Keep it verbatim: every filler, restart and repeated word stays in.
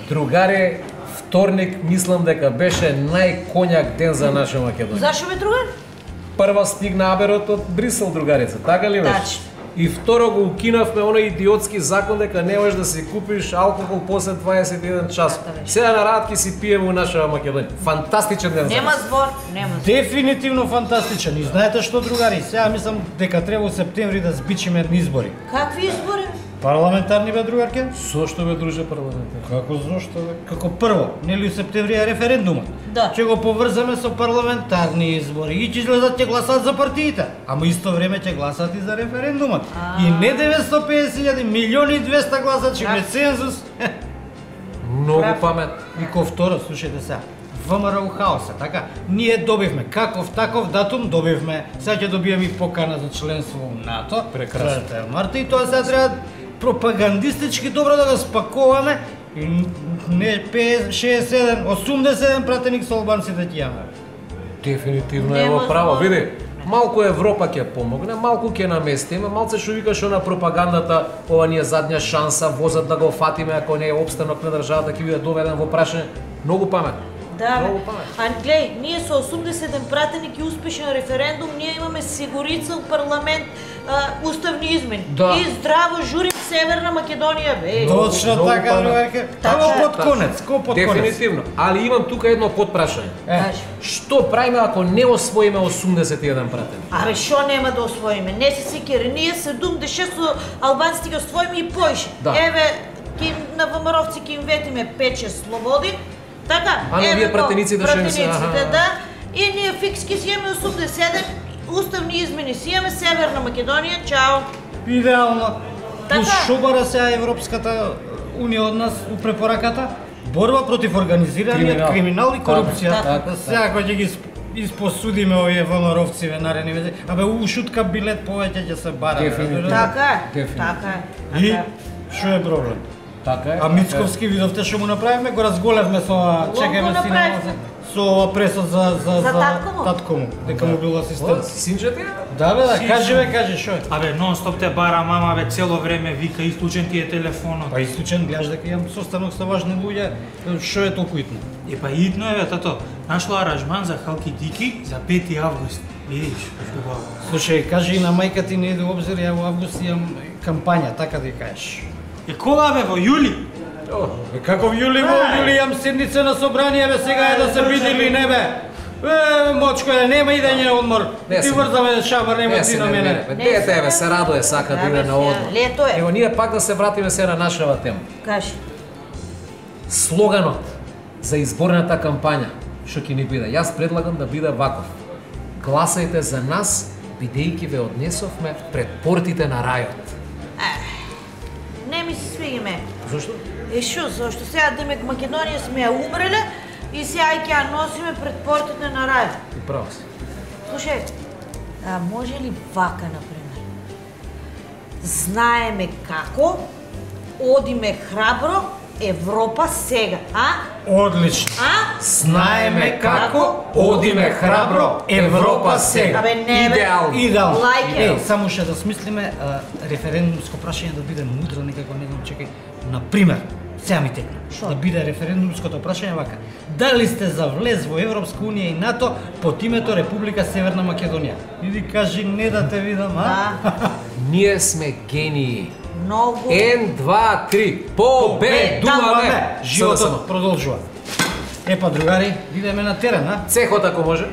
Другари, вторник мислам дека беше најкоњак ден за наша Македонија. Зашо бе, другар? Прва стигна аберот од Брисел, другарица, така ли беше? Тачно. И второ го укинавме оној идиотски закон дека не можеш да си купиш алкохол после дваесет и еден час. Сега на рад ќе си пиеме у наша Македонија. Фантастичен ден за Нема нас. збор, нема збор. Дефинитивно фантастичен. И знаете што, другари, сега мислам дека треба во септември да збичиме избори. Какви избори? Парламентарни бе, другарке? Зошто бе, друже, парламентар? Како зошто бе? Како прво, нели у септември е референдумот? Да. Ќе го поврзаме со парламентарни избори и ќе излезат ќе гласат за партиите, ама исто време ќе гласат и за референдумот. А. И не деветстотини и песет илјади, милиони и двеста гласачи без цензус. Многу Прав. памет. И ко второ, слушајте сега, ВМРО хаоса, така? Ние добивме каков таков датум добивме. Сега ќе добиеме и покана за членство во НАТО. Прекрасно. четвртого марта и тоа сега треба пропагандистички добро да го спакуваме и не петдесет, шеесет и седум, осумдесет и седум пратеник со албанците ќе имаме. Дефинитивно е Нема во право. збор. Види, малку Европа ќе помогне, малку ќе наместиме, малце што викаш на пропагандата, ова ни е задња шанса, возат да го фатиме ако не е опстанок на државата ќе биде доведен во прашање. Многу памет. Да, Многу бе. памет. А глеј, ние со осумдесет и еден пратеник и успешен референдум, ние имаме сигурица у парламент, а, уставни измени. Да. И здраво журим Северна Македонија, бе. Точно многу така, памет. другарке. Така Ало е. под конец, ко под конец. Дефинитивно. Али имам тука едно подпрашање. Е, Кажи. Што правиме ако не освоиме осумдесет и еден пратеник? Абе, шо нема да освоиме? Не се секири, ние седумдесет и шест со албанците ги освоиме и поише. Да. Еве, ки, на ВМРО-вци ќе им ветиме пет-шест слободи, така? А, но еве вие го, пратениците што им се- пратениците, аха. да. И ние фикски си имаме осумдесет и седум, уставни измени си имаме Северна Македонија, чао. идеално. Така. Плюс шо бара сега Европската унија од нас у препораката? Борба против организираниот Криминал. криминал и корупција. Така, така, Сега кога ќе ги исп- испосудиме овие ВМРО-вци ве нарени вези, абе у шутка билет повеќе ќе се бара. Дефинитивно. Така е, Дефинитивно. така е. И така е. што е проблем? Така е. А Мицковски видовте што му направивме, го разголевме со ова, Лого чекаме си направивме. со ова пресот за за За татко му? татко му, дека му бил О, асистент. синче ти? Да бе, да, Си, кажи си. бе, кажи шо е. Абе, нон-стоп те бара мама, бе, цело време вика, исклучен ти е телефонот. Па исклучен, гледаш дека имам состанок со важни луѓе, шо е толку итно? Е, па итно е, бе, тато. Нашло аранжман за Халки Дики за пети август. Видиш, што го. Слушај, кажи и на мајка ти не иде обзир, ја во август имам кампања, така да ја кажеш. Е, кога, бе, во јули? Е, како в јули, во јули имам седница на собрание, бе, сега е да се биде или не, бе. Е, мочко е, нема идење на одмор. Не Ти се. врзаме шамар, нема Не ти се на не мене. мене. Дете еве се радуе, сака да Да, иде бе, на одмор. сега, лето е. Ево ние пак да се вратиме се на нашава тема. Кажи. Слоганот за изборната кампања што ќе ни биде. Јас предлагам да биде ваков. Гласајте за нас, бидејќи ве однесовме пред портите на рајот. Не ми се свиги ме. Зошто? Е шо, зашто сега демек Македонија сме ја умреле и сега ќе ја носиме пред портите на рај. Ти право си. Слушај, а може ли вака, например? Знаеме како, одиме храбро, Европа сега, а? Одлично. А? Знаеме како, одиме храбро, Европа сега. Абе, не, бе. Идеално. Идеално. Лайк Е, it. само ще да смислиме а, референдумско прашање да биде мудро, некако не знам, чекај. Например, сега ми текна. Шо? Да биде референдумското прашање вака. Дали сте за влез во Европска унија и НАТО под името Република Северна Македонија? Иди кажи не да те видам, а? Да. Ние сме гении. Многу. Ен, два, три. Победуваме! Животот продолжува. Епа, другари, идеме на терен, а? Цехот ако може.